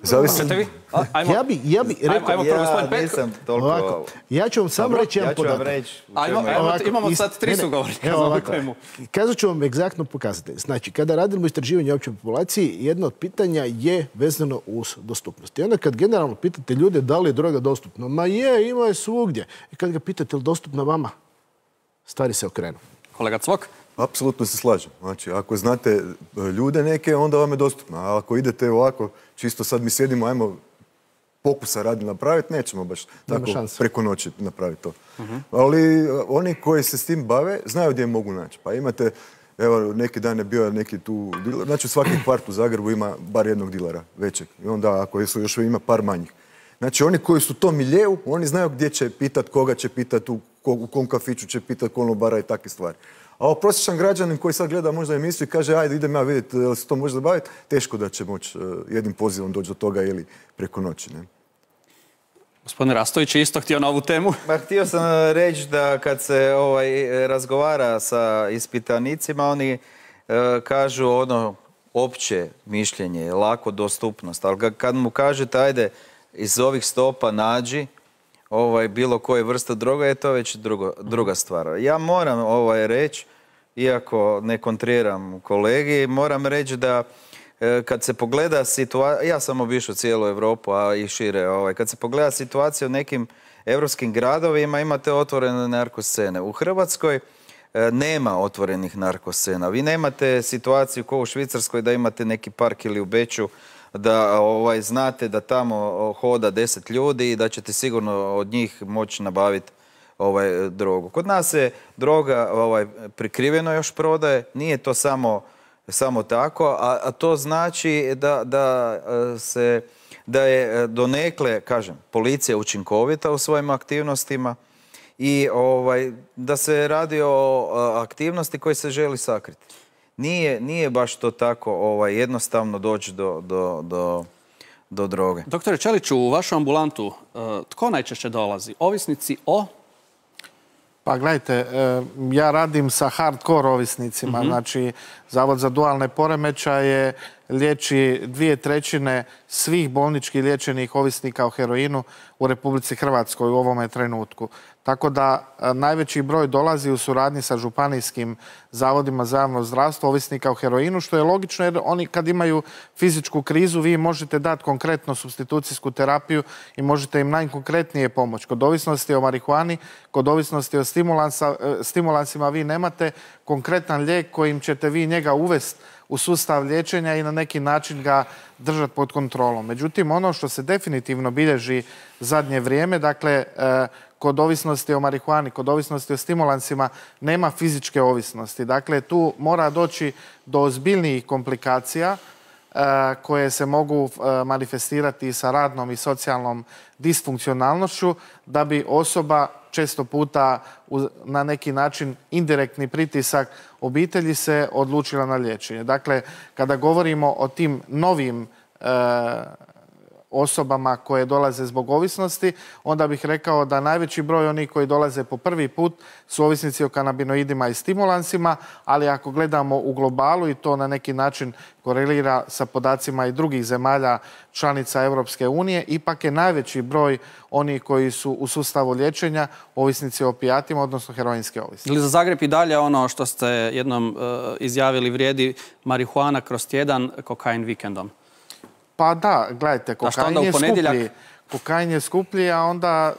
zavisno. Vi? A, ajmo, ja bi, ja bi rekao... Ajmo prvo, gospodin ja nisam toliko... Ovako, ja ću vam samo reći jedan podatak. Ja ću vam reći... Ajmo, ajmo, imamo sad tri sugovornika za ovu temu. Kazat ću vam egzaktno pokazatelj. Znači, kada radimo istraživanje opće populaciji, jedno od pitanja je vezano uz dostupnost. I onda kad generalno pitate ljude da li je droga dostupna, ma je, ima je svugdje. I kad ga pitate je li dostupna vama, stvari se okrenu. Kolega Cvok? Apsolutno se slažem. Znači, ako znate ljude neke, onda vam je dostupno. A ako idete ovako, čisto sad mi sjedimo, ajmo pokusa radi napraviti, nećemo baš tako preko noći napraviti to. Ali oni koji se s tim bave, znaju gdje mogu naći. Pa imate, evo, neki dan je bio neki tu diler, znači u svaki kvart u Zagrebu ima bar jednog dilera većeg. I onda ako su još ima par manjih. Znači oni koji su to miljeu, oni znaju gdje će pitat, koga će pitat, u, u kom kafiću će pitat, konobara i takve stvari. A ovo prosječan građanin koji sad gleda možda emisiju i kaže ajde idem ja vidjeti da se to može zabaviti, teško da će moći uh, jednim pozivom doći do toga ili preko noći. Ne? Gospodin Rastović je isto htio na ovu temu. Ma, htio sam reći da kad se ovaj, razgovara sa ispitanicima, oni uh, kažu ono opće mišljenje, lako dostupnost, ali kad mu kažete ajde iz ovih stopa nađi ovaj, bilo koje vrste droga, je to već drugo, druga stvar. Ja moram ovaj, reći, iako ne kontriram kolegi, moram reći da e, kad se pogleda situacija, ja sam obišao cijelu Europu, a i šire, ovaj, kad se pogleda situacija u nekim europskim gradovima, imate otvorene narkoscene. U Hrvatskoj e, nema otvorenih narkoscena. Vi nemate situaciju kao u Švicarskoj da imate neki park ili u Beču da ovaj, znate da tamo hoda deset ljudi i da ćete sigurno od njih moći nabaviti ovaj, drogu. Kod nas se droga ovaj, prikriveno još prodaje, nije to samo, samo tako, a, a to znači da, da, se, da je donekle, kažem, policija učinkovita u svojim aktivnostima i ovaj, da se radi o aktivnosti koje se želi sakriti. Nije, nije baš to tako ovaj, jednostavno doći do, do, do, do droge. Doktore Čeliću, u vašu ambulantu uh, tko najčešće dolazi? Ovisnici o? Pa gledajte, ja radim sa hardcore ovisnicima. Mm-hmm. Znači, Zavod za dualne poremećaje liječi dvije trećine svih bolničkih liječenih ovisnika o heroinu u Republici Hrvatskoj u ovome trenutku. Tako da najveći broj dolazi u suradnji sa županijskim zavodima za javno zdravstvo ovisnika o heroinu, što je logično jer oni kad imaju fizičku krizu vi možete dati konkretno supstitucijsku terapiju i možete im najkonkretnije pomoći. Kod ovisnosti o marihuani, kod ovisnosti o stimulansima vi nemate konkretan lijek kojim ćete vi njega uvesti u sustav liječenja i na neki način ga držati pod kontrolom. Međutim, ono što se definitivno bilježi zadnje vrijeme, dakle, kod ovisnosti o marihuani, kod ovisnosti o stimulansima, nema fizičke ovisnosti. Dakle, tu mora doći do ozbiljnijih komplikacija koje se mogu manifestirati sa radnom i socijalnom disfunkcionalnošću, da bi osoba često puta na neki način indirektni pritisak obitelji se odlučila na liječenje. Dakle, kada govorimo o tim novim e, osobama koje dolaze zbog ovisnosti, onda bih rekao da najveći broj onih koji dolaze po prvi put su ovisnici o kanabinoidima i stimulansima, ali ako gledamo u globalu i to na neki način korelira sa podacima i drugih zemalja članica Europske unije, ipak je najveći broj onih koji su u sustavu liječenja ovisnici o opijatima, odnosno heroinske ovisnice. Ili za Zagreb i dalje ono što ste jednom uh, izjavili vrijedi marihuana kroz tjedan, kokain vikendom? Pa da, gledajte, kokain je skuplji. Kokain je skuplji, a onda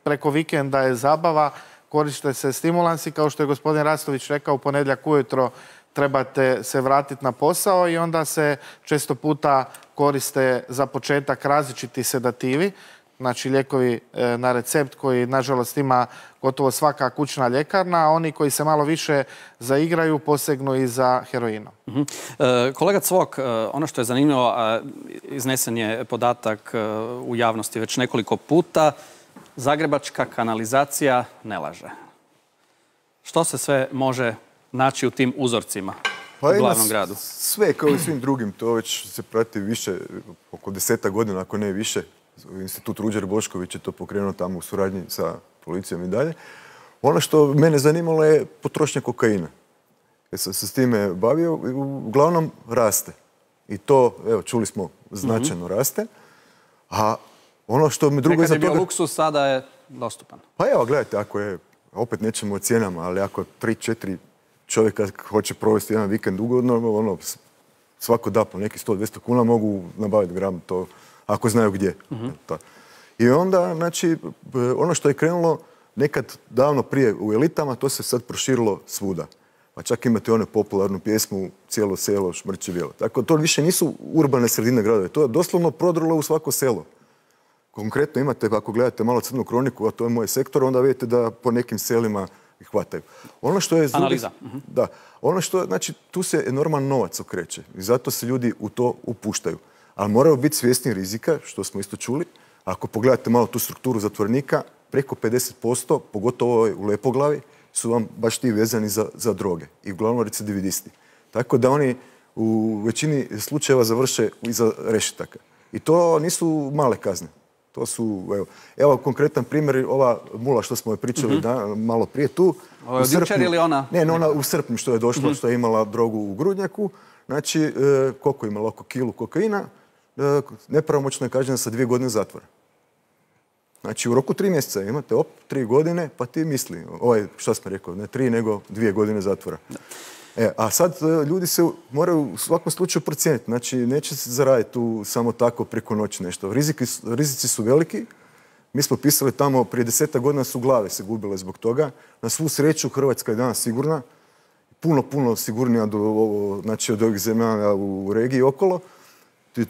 preko vikenda je zabava, koriste se stimulansi, kao što je gospodin Rastović rekao, u ponedjeljak ujutro trebate se vratiti na posao i onda se često puta koriste za početak različiti sedativi, znači lijekovi na recept koji nažalost ima gotovo svaka kućna ljekarna, a oni koji se malo više zaigraju posegnu i za heroinom. Uh-huh. E, kolega Cvok, ono što je zanimljivo, iznesen je podatak u javnosti već nekoliko puta, zagrebačka kanalizacija ne laže. Što se sve može naći u tim uzorcima pa u glavnom gradu? Sve kao i svim drugim, to već se prati više, oko deseta godina, ako ne više. Institut Ruđer Bošković je to pokrenuo tamo u suradnji sa policijom i dalje. Ono što mene zanimalo je potrošnja kokaina. Jer sam se s time bavio, uglavnom raste. I to, evo, čuli smo, značajno mm-hmm. raste. A ono što mi drugo... Nekad je bio toga... luksus, sada je dostupan. Pa evo, gledajte, ako je, opet nećemo o cijenama, ali ako tri, četiri čovjeka hoće provesti jedan vikend ugodno, ono, svako da po neki sto do dvjesto kuna mogu nabaviti gram to, ako znaju gdje. Mm-hmm. I onda, znači, ono što je krenulo nekad davno prije u elitama, to se sad proširilo svuda. Pa čak imate one popularnu pjesmu Cijelo selo šmrče bijelo. Tako, to više nisu urbane sredine gradove. To je doslovno prodrlo u svako selo. Konkretno imate, ako gledate malo crnu kroniku, a to je moj sektor, onda vidite da po nekim selima ih hvataju. Ono što je... Analiza. Da. Ono što, znači, tu se enorman novac okreće i zato se ljudi u to upuštaju. Ali moraju biti svjesni rizika, što smo isto čuli. Ako pogledate malo tu strukturu zatvorenika, preko pedeset posto, pogotovo u Lepoglavi, su vam baš ti vezani za, za droge i uglavnom recidivisti. Tako da oni u većini slučajeva završe iza rešetaka. I to nisu male kazne. To su, evo, evo konkretan primjer, ova mula što smo je pričali mm-hmm. da, malo prije tu. Ovo je od jučer ili ona? Ne, ne, ona u srpnju što je došla, mm-hmm. što je imala drogu u grudnjaku. Znači, e, koliko je imala? Oko kilu kokaina. E, nepravomoćno je kažnjena sa dvije godine zatvora. Znači, u roku tri mjeseca imate, op, tri godine, pa ti misli, ovaj, šta smo rekao, ne tri, nego dvije godine zatvora. E, a sad ljudi se moraju u svakom slučaju procijeniti. Znači, neće se zaraditi tu samo tako preko noći nešto. Riziki, rizici su veliki. Mi smo pisali tamo, prije desetak godina su glave se gubile zbog toga. Na svu sreću, Hrvatska je danas sigurna. Puno, puno sigurnija do, znači, od ovih zemalja u regiji okolo.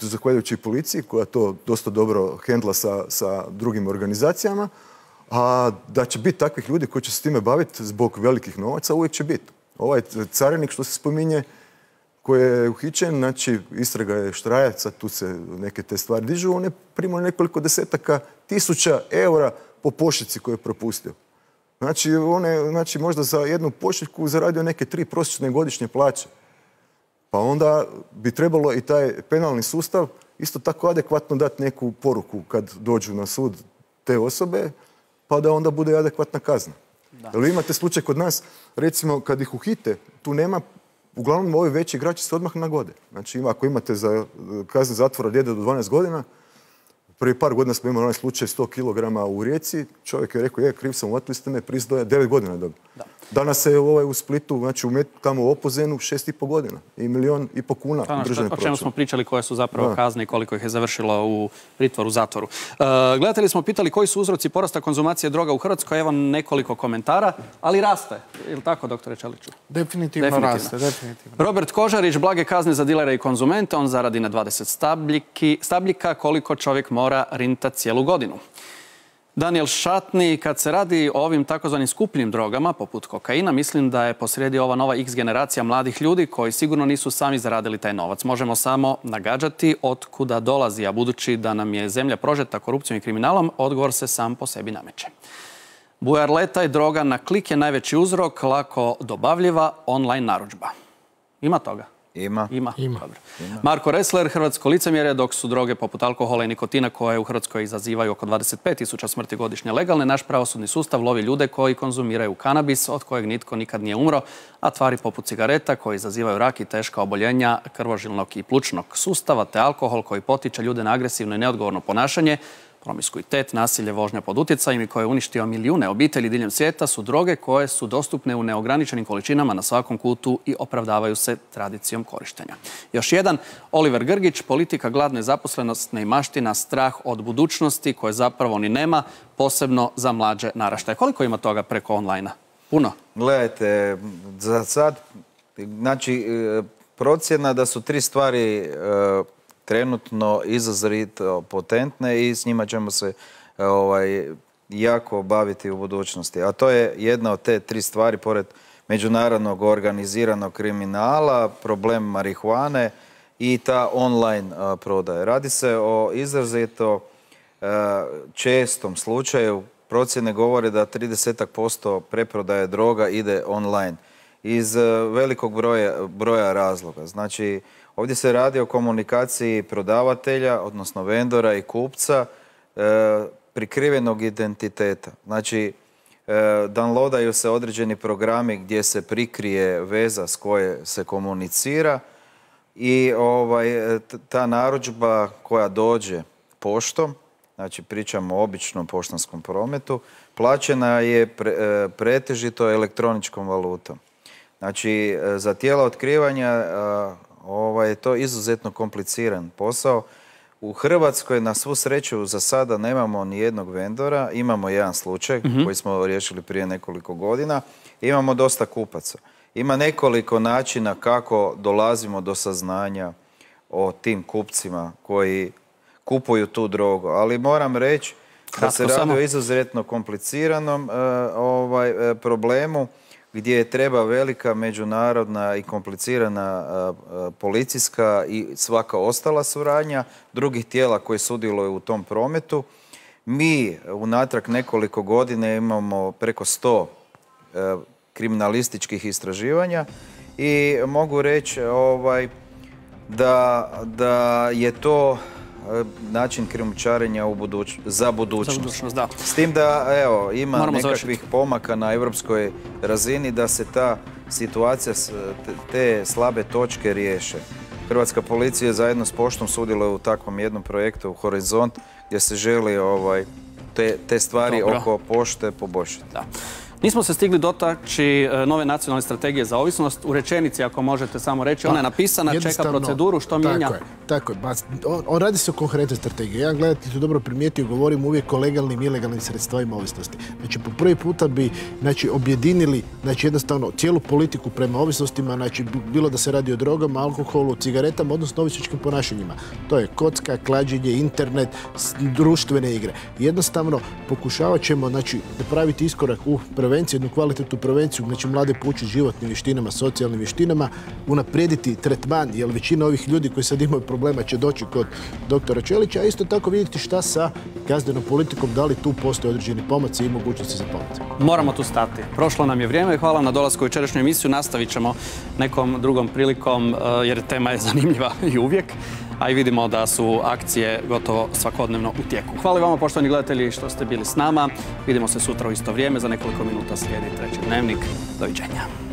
Zahvaljujući policiji, koja to dosta dobro hendla sa, sa drugim organizacijama. A da će biti takvih ljudi koji će se time baviti zbog velikih novaca, uvijek će biti. Ovaj carinik što se spominje, koji je uhićen, znači istraga je štrajaca, tu se neke te stvari dižu, on je primao nekoliko desetaka tisuća eura po pošiljci koju je propustio. Znači, on je znači, možda za jednu pošiljku zaradio neke tri prosječne godišnje plaće. Pa onda bi trebalo i taj penalni sustav isto tako adekvatno dati neku poruku kad dođu na sud te osobe, pa da onda bude adekvatna kazna. Jer vi imate slučaj kod nas, recimo kad ih uhite, tu nema, uglavnom ovi veći igrači se odmah nagode. Znači ako imate za kaznu zatvora djede do dvanaest godina, prije par godina smo imali onaj slučaj sto kilograma u Rijeci, čovjek je rekao, je, kriv sam, uvatili ste me, priznaje, devet godina je dobio. Danas je ovaj u Splitu, znači u Met, tamo u Opuzenu, šest i po godina i milion i po kuna u državnom proračunu. O čemu smo pričali, koje su zapravo kazne i koliko ih je završilo u pritvoru, zatvoru. Uh, gledatelji smo pitali koji su uzroci porasta konzumacije droga u Hrvatskoj. Evo nekoliko komentara, ali raste. Je li tako, doktore Čeliću? Definitivno, definitivno. raste, definitivno. Robert Kožarić, blage kazne za dilere i konzumente. On zaradi na dvadeset stabljiki, stabljika, koliko čovjek mora rinta cijelu godinu. Daniel Šatni, kad se radi o ovim takozvanim skupljim drogama, poput kokaina, mislim da je posrijedi ova nova X generacija mladih ljudi koji sigurno nisu sami zaradili taj novac. Možemo samo nagađati od kuda dolazi, a budući da nam je zemlja prožeta korupcijom i kriminalom, odgovor se sam po sebi nameće. Bujarleta i droga na klik je najveći uzrok, lako dobavljiva online narudžba. Ima toga? Ima. Ima. Ima. Dobro. Ima. Marko Resler, hrvatsko licemjerje, dok su droge poput alkohola i nikotina koje u Hrvatskoj izazivaju oko dvadeset pet tisuća smrti godišnje legalne, naš pravosudni sustav lovi ljude koji konzumiraju kanabis, od kojeg nitko nikad nije umro, a tvari poput cigareta koji izazivaju rak i teška oboljenja krvožilnog i plućnog sustava, te alkohol koji potiče ljude na agresivno i neodgovorno ponašanje, promiskuitet, nasilje, vožnja pod utjecajem i koje je uništio milijune obitelji diljem svijeta su droge koje su dostupne u neograničenim količinama na svakom kutu i opravdavaju se tradicijom korištenja. Još jedan, Oliver Grgić, politika, gladne zaposlenost, neimaština, strah od budućnosti koje zapravo ni nema, posebno za mlađe naraštaje. Koliko ima toga preko online-a? Puno? Gledajte, za sad, znači, procjena da su tri stvari trenutno izrazito potentne i s njima ćemo se ovaj, jako baviti u budućnosti. A to je jedna od te tri stvari, pored međunarodnog organiziranog kriminala, problem marihuane i ta online a, prodaja. Radi se o izrazito a, čestom slučaju. Procjene govore da trideset posto preprodaje droga ide online iz a, velikog broja, broja razloga. Znači, ovdje se radi o komunikaciji prodavatelja, odnosno vendora i kupca, e, prikrivenog identiteta. Znači, e, downloadaju se određeni programi gdje se prikrije veza s koje se komunicira i ovaj, ta narudžba koja dođe poštom, znači pričamo o običnom poštanskom prometu, plaćena je pre, e, pretežito elektroničkom valutom. Znači, za tijela otkrivanja e, Ovaj, to je izuzetno kompliciran posao. U Hrvatskoj na svu sreću za sada nemamo ni jednog vendora. Imamo jedan slučaj mm-hmm. koji smo riješili prije nekoliko godina. Imamo dosta kupaca. Ima nekoliko načina kako dolazimo do saznanja o tim kupcima koji kupuju tu drogu. Ali moram reći da se radi o izuzetno kompliciranom ovaj, problemu gdje treba velika međunarodna i komplicirana policijska i svaka ostala suradnja drugih tijela koji sudjeluju u tom prometu. Mi unatrag nekoliko godina imamo preko sto kriminalističkih istraživanja i mogu reći ovaj, da, da je to način krijumčarenja u buduć, za budućnost. Za budućnost, da. S tim da, evo, ima Moramo nekakvih završiti. pomaka na europskoj razini da se ta situacija, te, te slabe točke riješe. Hrvatska policija zajedno s poštom sudjeluje u takvom jednom projektu Horizont gdje se želi ovaj, te, te stvari Dobro. oko pošte poboljšati. Da. Nismo se stigli dotaći nove nacionalne strategije za ovisnost. U rečenici, ako možete samo reći, ona je napisana, čeka proceduru, što mijenja? Tako je, tako je. On, on radi se o konkretnoj strategiji. Ja gledajte, tu dobro primijetio, govorim uvijek o legalnim i ilegalnim sredstvima ovisnosti. Znači, po prvi puta bi znači, objedinili znači, jednostavno cijelu politiku prema ovisnostima, znači, bilo da se radi o drogama, alkoholu, cigaretama, odnosno ovisničkim ponašanjima. To je kocka, klađenje, internet, društvene igre. Jednostavno, pokušavat ćemo znači, napraviti iskorak u prevenciju, jednu kvalitetnu prevenciju, znači mlade poučiti životnim vještinama, socijalnim vještinama, unaprijediti tretman, jer većina ovih ljudi koji sad imaju problema će doći kod doktora Čelića, a isto tako vidjeti šta sa kaznenom politikom, da li tu postoje određeni pomaci i mogućnosti za pomoć. Moramo tu stati. Prošlo nam je vrijeme i hvala na dolasku u večerašnju emisiju. Nastavit ćemo nekom drugom prilikom, jer tema je zanimljiva i uvijek. A i vidimo da su akcije gotovo svakodnevno u tijeku. Hvala vama, poštovani gledatelji, što ste bili s nama. Vidimo se sutra u isto vrijeme. Za nekoliko minuta slijedi treći dnevnik. Doviđenja.